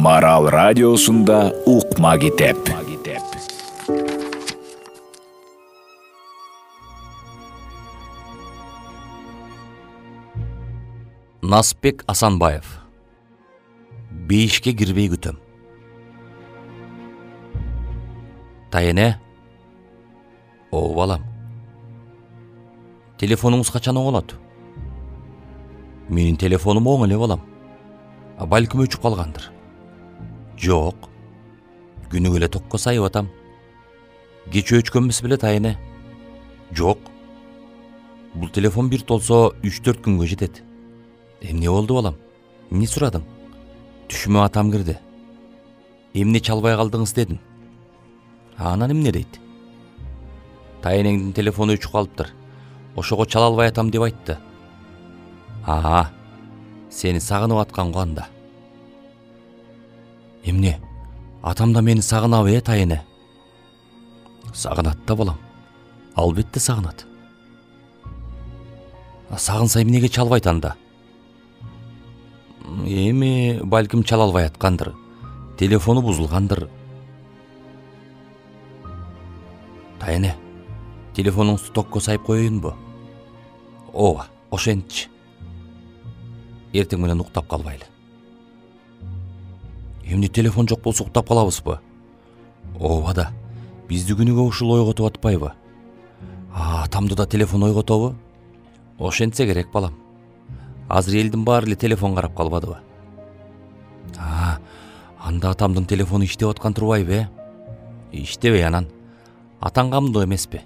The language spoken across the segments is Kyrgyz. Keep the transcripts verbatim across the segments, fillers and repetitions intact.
Марал радиосунда укма китеп. Насыпбек Асанбаев. Бейишке кирбей күтөм. Тайене. О, балам. Телефонуңуз качан оңолот? Менин телефонум оң эле, балам. А балким өчүп калгандыр. Жок. Күнүгө эле токко сайып атам. Кече өчкөнбүз беле, Тайене? Жок. Бул телефон бир толсо үч төрт күнгө жетет. Эмне болду, балам? Эмне сурадың? Түшүмө атам кирди. Эмне чалбай калдыңыз дедим. Анан эмне дейт? Тайенеңдин телефону өчүп калыптыр. Ошого чала албай атам деп айтты. Аа, сени сагынып аткан го анда. Эмне? Атам да мени сагынабы, э, Тайене? Сагынат да, балам. Албетте сагынат. Сагынса эмнеге чалбайт анда? Эми балким чала албай аткандыр. Телефону бузулгандыр. Тайене, телефонуңузду токко сайып коеюнбу? Ооба, ошентчи. Эртең менен уктап калбайлы. Эмне телефон жок болсо уктап калабызбы? Ооба да. Бизди күнүгө ушул ойготуп атпайбы? А, атамды да телефон ойготобу? Ошентсе керек, балам. Азыр элдин баары эле телефон карап калбадыбы? А, анда атамдын телефону иштеп аткан турбайбы, э? Иштебей анан. Атаң камдуу эмеспи?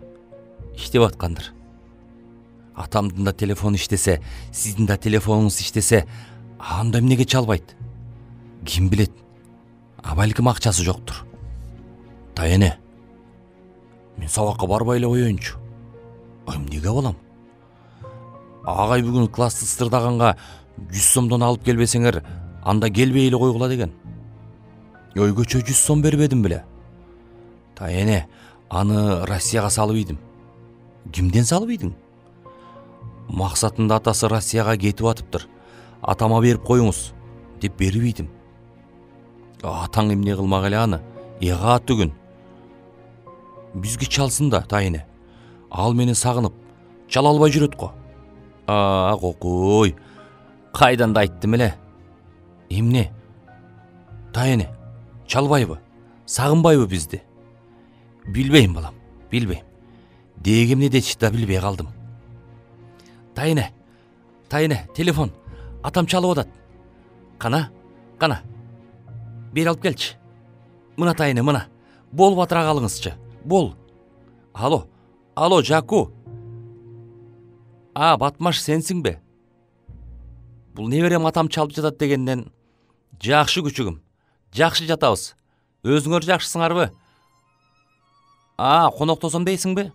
Иштеп аткандыр. Атамдын да телефону иштесе, сиздин да телефонуңуз иштесе, анда эмнеге чалбайт? Ким билет? А балким акчасы жоктур. Тайене, мен сабакка барбай эле коеюнчу. Эмнеге, балам? Агай бүгүн классты сырдаганга жүз сомдон алып келбесеңер, анда келбей эле койгула деген. Ойгөчө жүз сом бербедим беле? Тайене, аны Россияга салып ийдим. Кимден салып ийдиң? Максатында атасы Россияга кетип атыптыр. Атама берип коюңуз деп берип ийдим. Атаң эмне кылмак эле аны? Эга түгүн. Бизге чалсын да, Тайене. Ал мени сагынып, чала албай жүрөт го. А, кокуй. Кайдан да айттым эле. Эмне? Тайене, чалбайбы? Сагынбайбы бизди? Билбейм, балам, билбейм. Деги эмне дечти да билбей калдым. Тайене, Тайене, телефон. Атам чалып атат. Кана, кана. Бери алып келчи. Мына, Тайене, мына. Болуп атыра калыңызчы. Бол. Алло, алло, Жаку. А, Батмаш, сенсиңби? Бул неберем атам чалып жатат дегенден. Жакшы күчүгүм. Жакшы жатабыз. Өзүңөр жакшысыңарбы? А, коноктосом дейсиңби?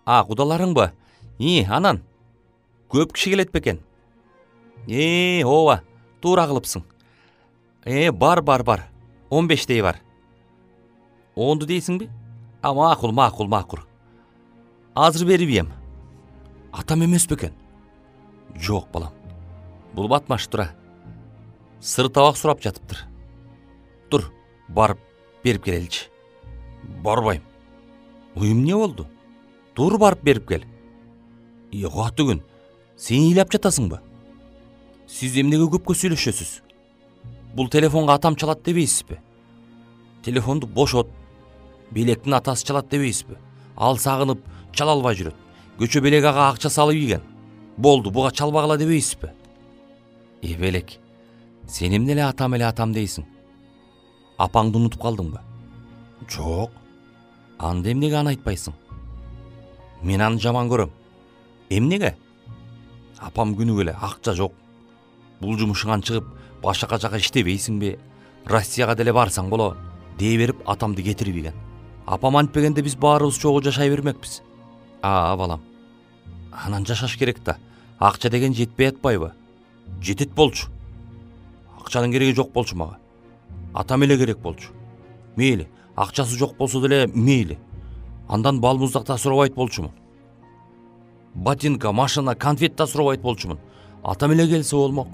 А, кудаларыңбы? И, анан. Көп киши келет бекен. Э, ооба, туура кылыпсың. Э, бар, бар, бар. он бештей бар. онду дейсиңби? А, макул, макул, макул. Азыр берип ийем. Атам эмес бекен? Жок, балам. Бул Батмаш тура. Сыр табак сурап жатыптыр. Тур, барып берип келеличи. Барбайм. Эмне болду? Тур, барып берип кел. Эга түгүн. Сен ыйлап жатасыңбы? Сиз эмнеге көпкө сүйлөшөсүз? Бул телефонго атам чалат дебейсизби? Телефонду бошот. Белектин атасы чалат дебейсизби? Ал сагынып, чала албай жүрөт. Көчө белек ага акча салып ийген. Болду, буга чалбагыла дебейсизби? Э, белек. Сен эмне эле атам эле атам дейсиң? Апаңды унутуп калдыңбы? Жок. Анда эмнеге аны айтпайсың? Мен аны жаман көрөм. Эмнеге? Апам күнүгө эле акча жок. Бул жумушуңан чыгып, башка жака иштебейсиңби? Россияга деле барсаң болот, дей берип атамды кетирип ийген. Апам антпегенде биз баарыбыз чогуу жашай бермекпиз. А, балам. Анан жашаш керек да. Акча деген жетпей атпайбы? Жетет болчу. Акчанын кереги жок болчу мага. Атам эле керек болчу. Мейли, акчасы жок болсо деле мейли. Андан бал муздак да сурабайт болчумун. Ботинка, машина, конфет да сурабайт болчумун. Атам эле келсе болмок.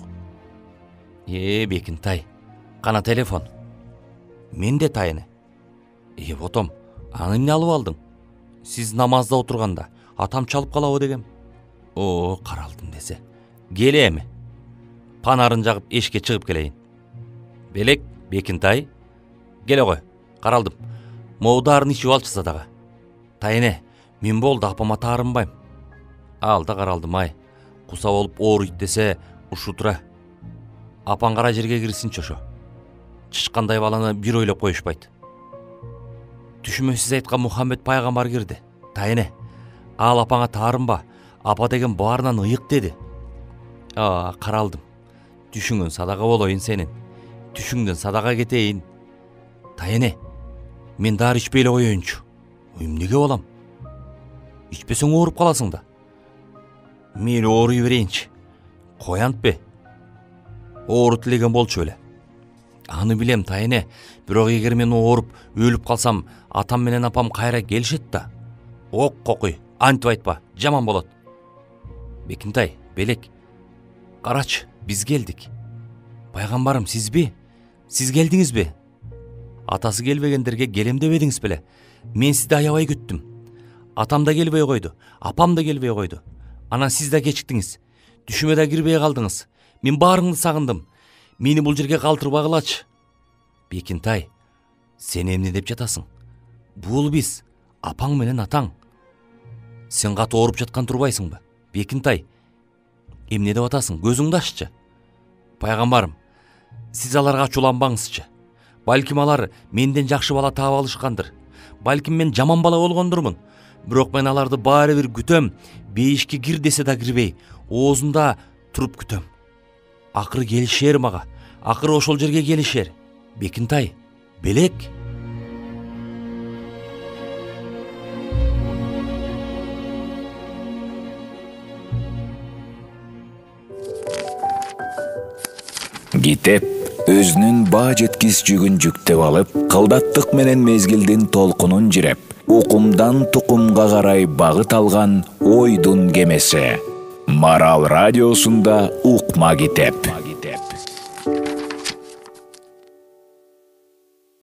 Э, Бекинтай. кана телефон. Менде Тайыне. Э, ботом, аны эмне алып алдың? Сиз намазда отурганда атам чалып калабы дегем. О, каралдым десе. Келе эми. Панарын жагып эшикке чыгып келейин. Белек, Бекинтай. Келе кой, каралдым. Могу дарын ичип алчысы дагы. Тайыне, мен болду апама таарынбайм. Алда каралдым ай. Куса болуп ооруйт десе ушу тура. Апаң кара жерге кирсинчи ошо. Чычкандай баланы бир ойлоп коюшпайт. Түшүмө сиз айткан Мухаммед пайгамбар кирди. Тайыне, ал апаңа таарынба, апа деген баарынан ыйык деди. А, каралдым. Түшүңөн садака болоюн сенин. Түшүңдөн садака кетейин. Тайыне, мен дары ичпей эле коеюнчу. Эмнеге болам? Ичпесең ооруп каласың да. Мейли ооруй берейинчи. Коянтпе. Оору тилеген болчу эле. Аны билем, Тайыне, бирок эгер мен ооруп өлүп калсам, атам менен апам кайра келишет да. Ок кокуй, антип айтпа, жаман болот. Бекинтай, Белек, карачы, биз келдик. Пайгамбарым, сизби? Сиз келдиңизби? Атасы келбегендерге келем дебедиңиз беле? Мен сизди аябай күттүм. Атам да келбей койду, апам да келбей койду. Анан сиз да кечиктиңиз. Түшүмө да кирбей калдыңыз. Мен баарыңды сагындым. Мени бул жерге калтырбагылачы. Бекинтай, сен эмне деп жатасың? Бул биз, апаң менен атаң. Сен катуу ооруп жаткан турбайсыңбы? Бекинтай, эмне деп атасың? Көзүңдү аччы. Пайгамбарым, сиз аларга ачууланбаңызчы. Балким алар менден жакшы бала таап алышкандыр. Балким мен жаман бала болгондурмун. Бирок мен аларды баары бир күтөм. Бейишке кир десе да кирбей, оозунда туруп күтөм. Акыры келишер мага. Акыры ошол жерге келишер. Бекинтай, Белек. Китеп өзүнүн баа жеткис жүгүн жүктөп алып, кылдаттык менен мезгилдин толкунун жиреп, укумдан тукумга карай багыт алган ойдун кемеси. Марал радиосунда укма китеп.